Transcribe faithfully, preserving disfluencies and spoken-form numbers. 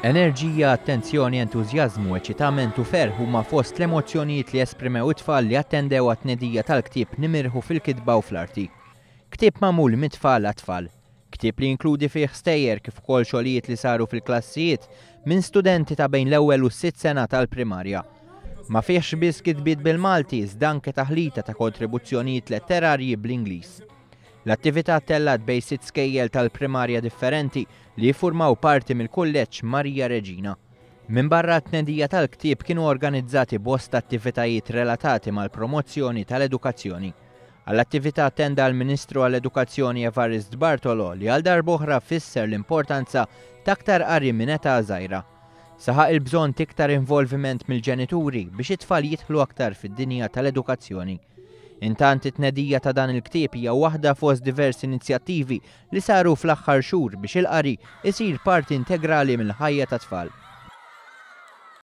Enerġija, attenzjoni, entużjażmu, eċitament u ferħ huma fost l-emozzjonijiet li esprimew it-tfal li attendew għat-tnedija tal-ktieb Nimirħu fil-Kitba u fl-Arti. Ktieb magħmul mit-tfal għat-tfal. Ktieb li jinkludi fih stejjer kif ukoll xogħlijiet li saru fil-klassijiet minn studenti ta' bejn l-ewwel u s-sitt sena tal-primarja. Ma fihx biss kitbiet bil-Malti, iżda anke taħlita ta' kontribuzzjonijiet letterarji bl-Ingliż. L-attività ttellgħet bejn sitt skejjel tal-primarja differenti li jiffurmaw parti mill-Kulleġġ Marija Reġina. Minbarra t-tnedija tal-ktieb kienu organizzati bosta attivitajiet relatati mal-promozzjoni tal-edukazzjoni. Għall-attività attenda l-Ministru għall-Edukazzjoni Evarist Bartolo, li għal darb'oħra fisser l-importanza ta' aktar qari minn età żgħira. Saħaq il-bżonn t'iktar involviment mill-ġenituri biex it-tfal jidħlu aktar fid-dinja tal-edukazzjoni. Intant, it-tnedija ta' dan il-ktieb hija waħda fost diversi inizjattivi li saru fl-aħħar xhur biex il-qari isir parti integrali mill-ħajja tat-tfal.